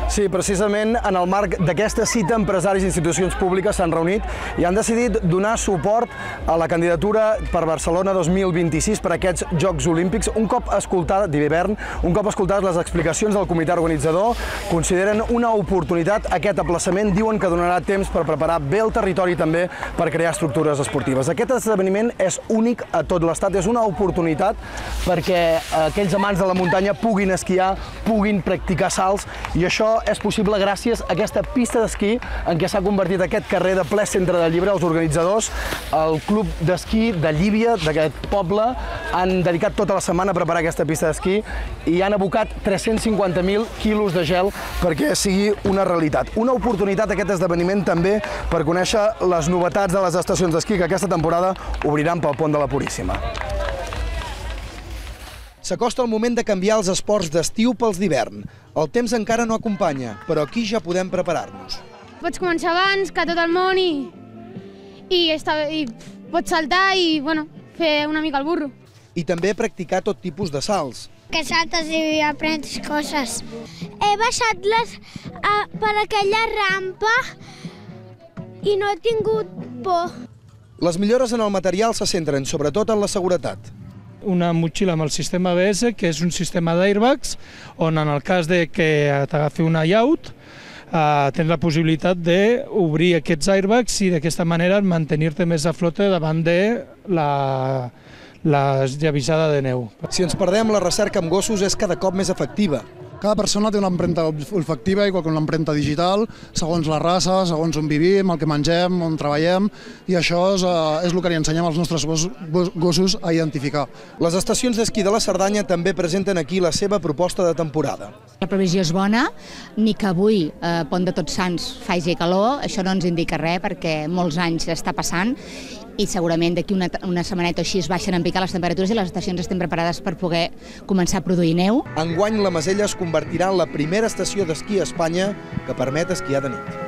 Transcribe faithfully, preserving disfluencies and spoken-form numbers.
Sí, precisament en el marc d'aquesta cita, empresaris i institucions públiques s'han reunit i han decidit donar suport a la candidatura per Barcelona dos mil vint-i-sis per a aquests Jocs Olímpics. Un cop escoltada, d'hivern, un cop escoltades les explicacions del comitè organitzador, consideren una oportunitat aquest aplaçament. Diuen que donarà temps per preparar bé el territori també per crear estructures esportives. Aquest esdeveniment és únic a tot l'Estat, és una oportunitat perquè aquells amants de la muntanya puguin esquiar, puguin practicar salts, i això és possible gràcies a aquesta pista d'esquí en què s'ha convertit aquest carrer de ple centre de Llíber. Els organitzadors, el club d'esquí de Llívia, d'aquest poble, han dedicat tota la setmana a preparar aquesta pista d'esquí i han abocat tres-cents cinquanta mil quilos de gel perquè sigui una realitat. Una oportunitat aquest esdeveniment també per conèixer les novetats de les estacions d'esquí que aquesta temporada obriran pel pont de la Puríssima. S'acosta el moment de canviar els esports d'estiu pels d'hivern. El temps encara no acompanya, però aquí ja podem preparar-nos. Pots començar abans que tot el món i, i, està, i pots saltar i bueno, fer una mica el burro. I també practicar tot tipus de salts. Que saltes i aprens coses. He baixat les, uh, per aquella rampa i no he tingut por. Les millores en el material se centren sobretot en la seguretat. Una motxilla amb el sistema A B S, que és un sistema d'airbags, on en el cas de que t'agafi una llaut, eh, tens la possibilitat d'obrir aquests airbags i d'aquesta manera mantenir-te més a flote davant de la, la llavissada de neu. Si ens perdem, la recerca amb gossos és cada cop més efectiva. Cada persona té una empremta olfactiva, igual que una empremta digital, segons la raça, segons on vivim, el que mengem, on treballem, i això és, és el que li ensenyem als nostres gossos a identificar. Les estacions d'esquí de la Cerdanya també presenten aquí la seva proposta de temporada. La previsió és bona, ni que avui, eh, pont de Tots Sants, faci calor, això no ens indica res perquè molts anys està passant, i segurament d'aquí una, una setmaneta o així es baixen en picar les temperatures i les estacions estem preparades per poder començar a produir neu. Enguany la Masella es convertirà en la primera estació d'esquí a Espanya que permet esquiar de nit.